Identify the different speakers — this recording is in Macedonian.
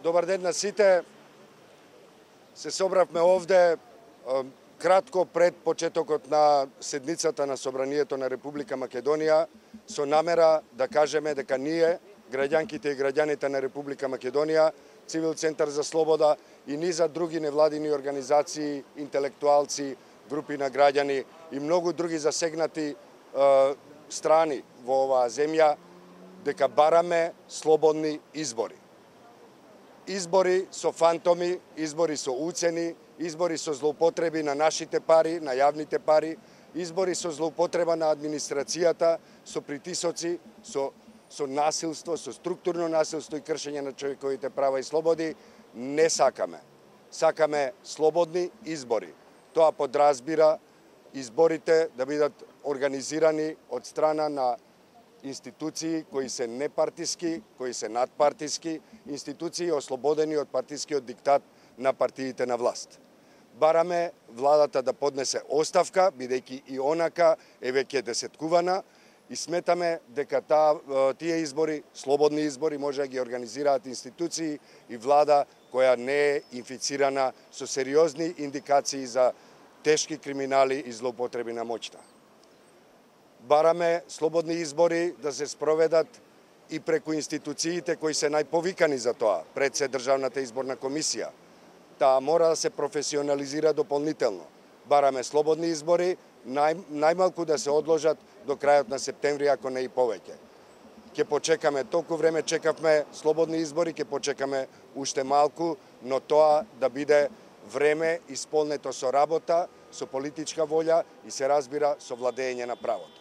Speaker 1: Добар ден на сите. Се собравме овде кратко пред почетокот на седницата на Собранието на Република Македонија со намера да кажеме дека ние, граѓанките и граѓаните на Република Македонија, Цивил Центар за слобода и низа други невладини организации, интелектуалци, групи на граѓани и многу други засегнати страни во оваа земја, дека бараме слободни избори. Избори со фантоми, избори со уцени, избори со злоупотреби на нашите пари, на јавните пари, избори со злоупотреба на администрацијата, со притисоци, со насилство, со структурно насилство и кршење на човековите права и слободи, не сакаме. Сакаме слободни избори. Тоа подразбира изборите да бидат организирани од страна на институции кои се непартиски, кои се надпартиски, институции ослободени од партискиот диктат на партиите на власт. Бараме владата да поднесе оставка, бидејќи и онака е веќе десеткувана, и сметаме дека тие избори, слободни избори, може да ги организираат институции и влада која не е инфицирана со сериозни индикации за тешки криминали и злоупотреби на моќта. Бараме слободни избори да се спроведат и преку институциите кои се најповикани за тоа, пред се Државната изборна комисија. Таа мора да се професионализира дополнително. Бараме слободни избори, најмалку да се одложат до крајот на септември, ако не и повеќе. Ќе почекаме, толку време чекавме слободни избори, ќе почекаме уште малку, но тоа да биде време исполнето со работа, со политичка волја и се разбира со владење на правото.